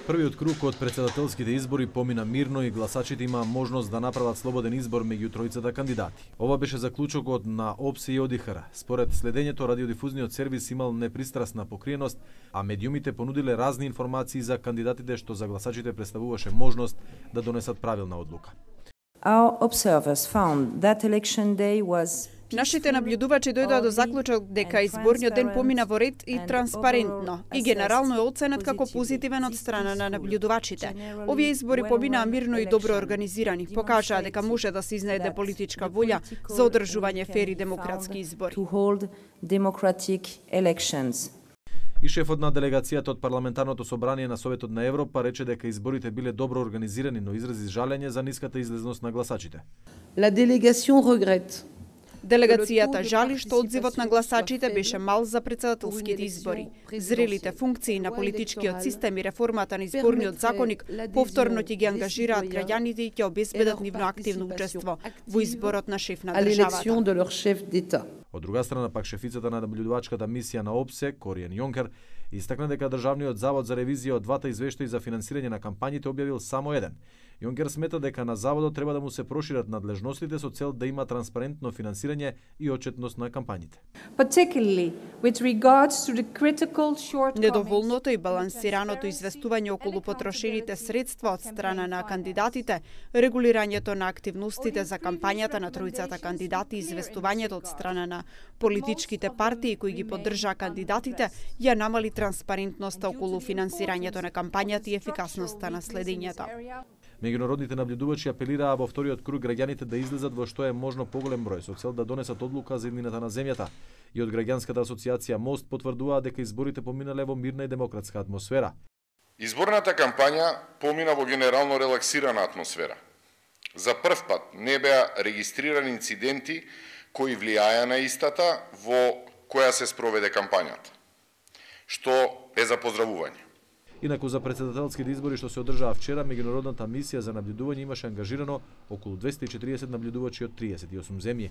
Првиот круг од претседателските избори помина мирно и гласачите имаа можност да направат слободен избор меѓу тројцата кандидати. Ова беше заклучокот на ОПСЕ и ОДИХР. Според следењето, радиодифузниот сервис имал непристрасна покриеност, а медиумите понудиле разни информации за кандидатите што за гласачите представуваше можност да донесат правилна одлука. Our observers found that election day was Нашите наблюдувачи дојдоа до заклучок дека изборниот ден помина во ред и транспарентно и генерално е оценет како позитивен од страна на наблюдувачите. Овие избори поминаа мирно и добро организирани, покажаа дека може да се изнајде политичка волја за одржување фери демократски избори. И шефот на делегацијата од парламентарното собрание на Советот на Европа рече дека изборите биле добро организирани, но изрази жалење за ниската излезност на гласачите. La délégation regrette Делегацијата жали што одзивот на гласачите беше мал за претседателските избори. Зрелите функции на политичкиот систем и реформата на изборниот законник повторно ќе ги ангажираат граѓаните и ќе обезбедат нивно активно учество во изборот на шеф на државата. Од друга страна пак шефицата на наблюдувачката мисија на ОПСЕ, Кориен Јонкер, истакна дека Државниот завод за ревизија од двата извештаи за финансирање на кампањите објавил само еден. Јонкер смета дека на заводот треба да му се прошират надлежностите со цел да има транспарентно финансирање и отчетност на кампањите. Недоволното и балансираното известување околу потрошените средства од страна на кандидатите, регулирањето на активностите за кампањата на тројцата кандидати и известувањето од страна на политичките партии кои ги поддржаа кандидатите, ја намали транспарентноста околу финансирањето на кампањата и ефикасноста на следењето. Меѓународните наблюдувачи апелираа во вториот круг граѓаните да излезат во што е можно поголем број со цел да донесат одлука за иднината на земјата. И од граѓанската асоциација Мост потврдуваа дека изборите поминале во мирна и демократска атмосфера. Изборната кампања помина во генерално релаксирана атмосфера. За прв пат не беа регистрирани инциденти кои влијаја на истата во која се спроведе кампањата, што е за поздравување. Инаку за претседателските избори што се одржаа вчера, меѓународната мисија за наблюдување имаше ангажирано околу 240 наблюдувачи од 38 земји.